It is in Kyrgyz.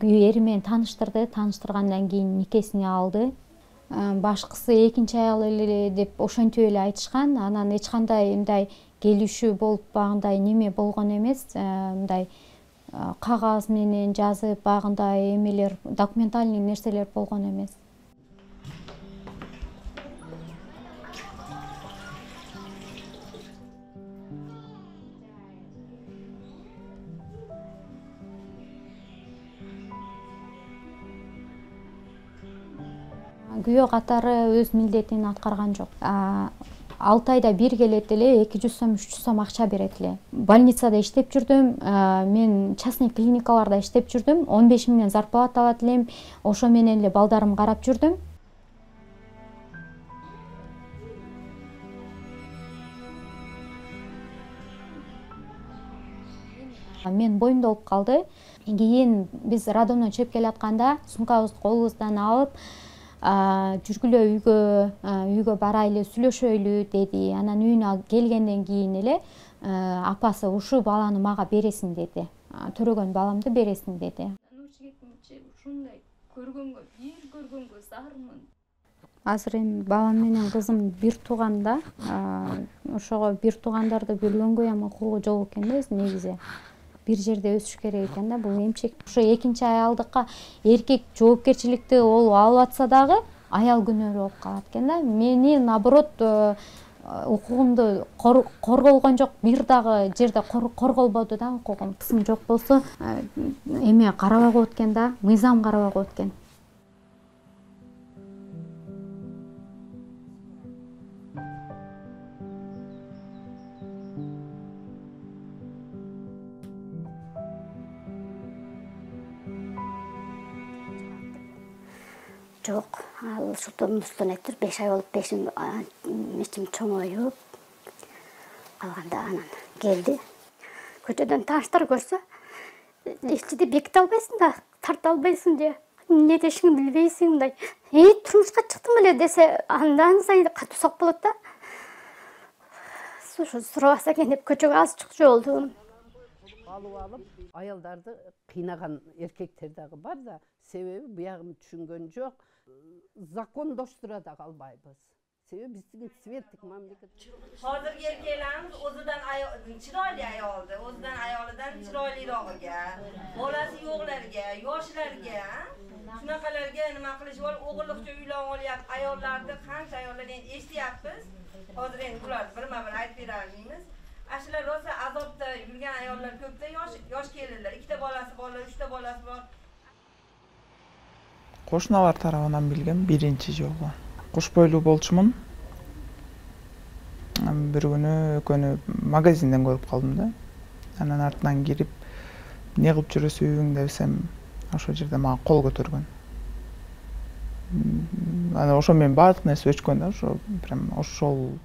Ери менен тааныштырды, тааныштыргандан кийин никесине алды. Башкысы экинчи аял эле деп ошентип эле айтышкан. Анан эч кандай мындай келишүү болуп багындай неме болгон эмес. Мындай кагаз менен жазып багындай эмелер, документальный нерселер болгон эмес. Күйөө катары өз милдетин аткарган жок. 6 айда бир келет эле 200 сом, 300 сом акча берет эле. Больницада иштеп жүрдүм, мен частный клиникаларда иштеп жүрдүм. 15 миңден зарплата алат элем. Ошо менен эле балдарымды карап жүрдүм. Мен боюмда болуп калды. Кийин биз роддомдон чыгып келатканда сумкабызды колубуздан алып, жүргүлө үйгө барайлы, сүйлөшөйлү деди. Анан үйүнө келгенден кийин эле апасы ушул баланы мага бересиң деди. Төрөгөн баламды бересиң деди. Ушундай көргөнгө, бир көргөнгө зармын. Азыр эми балам менен кызым бир тууганда, ошого бир туугандарды бөлгөнгө эми укугу жок экен да негизи. Бир жерде өсүш керек экен да, бул эмчек. Ошо экинчи аялдыкка эркек жоопкерчиликти ол алып атса дагы аял күнөөлүү болуп калат экен да. Мени наоборот укугумду корголгон жок, бир дагы жерде корголбоду да укугум. Кызым жок болсо эме карабай коет экен да, мыйзам карабай коет экен. Жок, ал ушултон айтыр 5 ай болуп ичим чоңоюп калганда анан келди. Көчөдөн тааныштар көрсө, ичиди беките албайсың да, тарта албайсың же, эмне дешиңди билбейсиң мындай. Турмушка чыктым эле десе, андан сайын катуу сок болот да. Ушу сурабаса экен деп көчөгө аз чыкчу болдум. Алып аялдарды кыйнаган эркектер дагы бар да, себеби буягын түшүнгөн жок. Закондоштура да калбайбыз. Себеби биздин светтик мамлекет. Hozirgi erkaklarimiz o'zidan chiroyli ayoldi, o'zidan ayolidan chiroylirog'iga, bolasi yo'qlarga, yoshlarga, shunaqalarga nima qilish bor, o'g'illiqcha uylanib olyapti, ayollarni qancha ayollar endi eshityapmiz. Hozir endi bularni birma-bir aytib beramiz. Ashular rosa azobda yurgan ayollar ko'pda, yosh kelinlar, 2 bolasi bor, 3 bolasi bor. Кошуналар тарабынан билгем биринчи жолу. Куш бойлуу болчумун. Бир күнү экөөнү магазинден көрүп калдым да. Анан артынан кирип, эмне кылып жүрөсүң десем, ошол жерде мага кол көтөргөн. Анан ошо менен баардык нерсе өчкөн да, ошо прям ошол